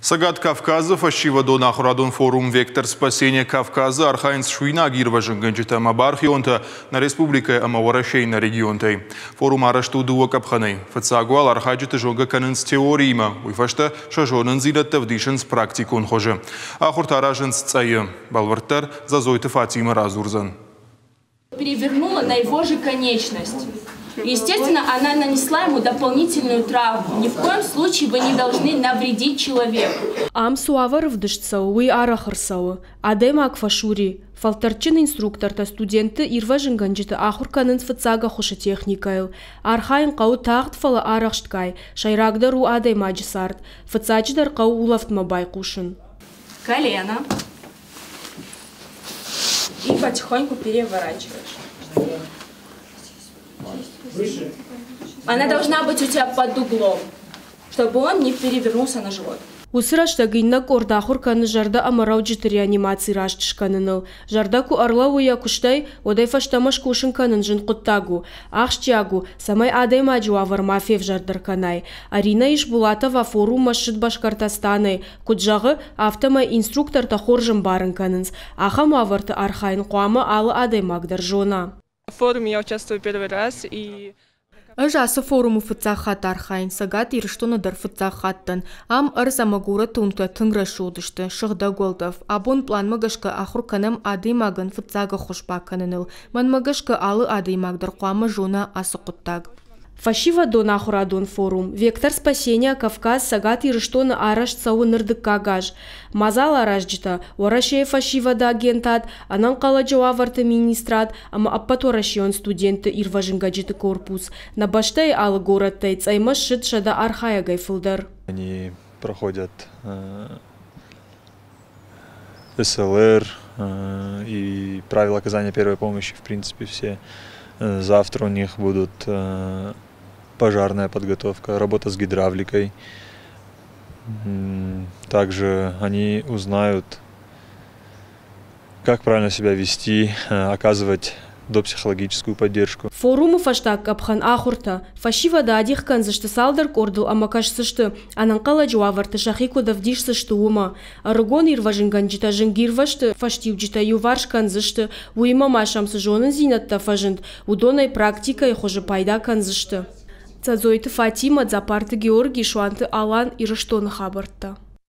Цӕгат Кавказы фӕсивӕдон ахуырадон форум «Вектор спасения Кавказа» архайынц суинаг ирвӕзынгӕнджытӕ ӕмӕ бархионтӕ нӕ республикӕйы ӕмӕ Уӕрӕсейы нӕ регионтӕй. Форум арӕзт у дыууӕ къӕпхӕнӕй. Фыццаг уал архайджыты зонгӕ кӕнынц теориимӕ, уый фӕстӕ сӕ зонындзинӕдтӕ ӕвдисынц практикон хуызы. Ахуыртӕ аразынц Цъӕйы. Бӕлвырддӕр Зазойты Фатимӕ радзурдзӕн. Перевернула на его же конечность. Естественно, она нанесла ему дополнительную травму. Ни в коем случае вы не должны навредить человеку. Ам цы уавӕр ӕвдыст цӕуы, уый арӕх ӕрцӕуы. Адӕймаг фӕсури. Фӕлтӕрдджын инструктортӕ студентты ирвӕзынгӕнджыты ахуыр кӕнынц фыццаг ӕххуысы техникӕйыл. Архайын хъӕуы тагъд, фӕлӕ арӕхстгай. Сӕйрагдӕр у адӕймаджы цард. Фыццаджыдӕр хъӕуы улӕфтмӕ байхъусын. Колено. И потихоньку переворачиваешь. Она должна быть у тебя под углом, чтобы он не перевернулся на живот. Уыцы рӕстӕг иннӕ къорд ахуыр кӕны зӕрдӕ ӕмӕ рӕуджыты реанимаци раст скӕныныл. Зӕрдӕ куы ӕрлӕууы йӕ куыстӕй, уӕд ӕй фӕстӕмӕ скусын кӕнын зын хъуыддаг у. Ахсджиаг у, цӕмӕй адӕймаджы уавӕр ма февзӕрдӕр кӕнай. Арина Ишбулатова форуммӕ ссыд Башкортостанӕй. Куыд зӕгъы, афтӕмӕй инструктортӕ хорз ӕмбарын кӕнынц, ахӕм уавӕрты архайын хъуамӕ алы адӕймаг дӕр зона. В форуме я участвую первый раз и Ӕз ацы форумы фыццаг хатт архайын, Цӕгат Ирыстоны дӕр фыццаг хатт дӕн. Ам ӕрдз ӕмӕ горӕты уынгтӕ тынг рӕсугъд сты, сыгъдӕг уӕлдӕф. Абон пъланмӕ гӕсгӕ ахуыр кӕнӕм адӕймагӕн фыццаг ӕххуыс бакӕныныл. Мӕнмӕ гӕсгӕ алы адӕймаг дӕр хъуамӕ зона ацы хъуыддаг. Фӕсивӕдон ахуырадон форум «Вектор спасения Кавказ» Цӕгат Ирыстоны арӕзт цӕуы ныр дыккаг аз. Мадзал аразджытӕ Уӕрӕсейы фӕсивӕды агентад, ӕнӕнхъӕлӕджы уавӕрты министрад ӕмӕ ӕппӕтуӕрӕсейон студентты ирвӕзынгӕнджыты корпус. Нӕ бӕстӕйы алы горӕттӕй Цъӕймӕ ссыд 100 архайӕгӕй фылдӕр. Они проходят СЛР и правила оказания первой помощи, в принципе, все. Завтра у них будут пожарная подготовка, работа с гидравликой. Также они узнают, как правильно себя вести, оказывать допсихологическую поддержку. Форумы фӕстаг къӕпхӕн ахуыртӕ. Фӕсивӕды адих кӕндзысты цалдӕр къордыл ӕмӕ кӕсдзысты, ӕнӕнхъӕлӕджы уавӕрты сӕхи куыд ӕвдисдзысты, уымӕ. Ӕрыгон ирвӕзынгӕнджытӕ зынгирвӕзты фӕстиуджытӕ иуварс кӕндзысты, уыимӕ ма сӕм цы зонындзинӕдтӕ фӕзынд, уыдонӕй практикӕйы хуызы пайда кӕндзысты. Цӕдзойты Фатимӕ, Дзапарты Георгий, Суанты Алан, Ирыстоны хабӕрттӕ.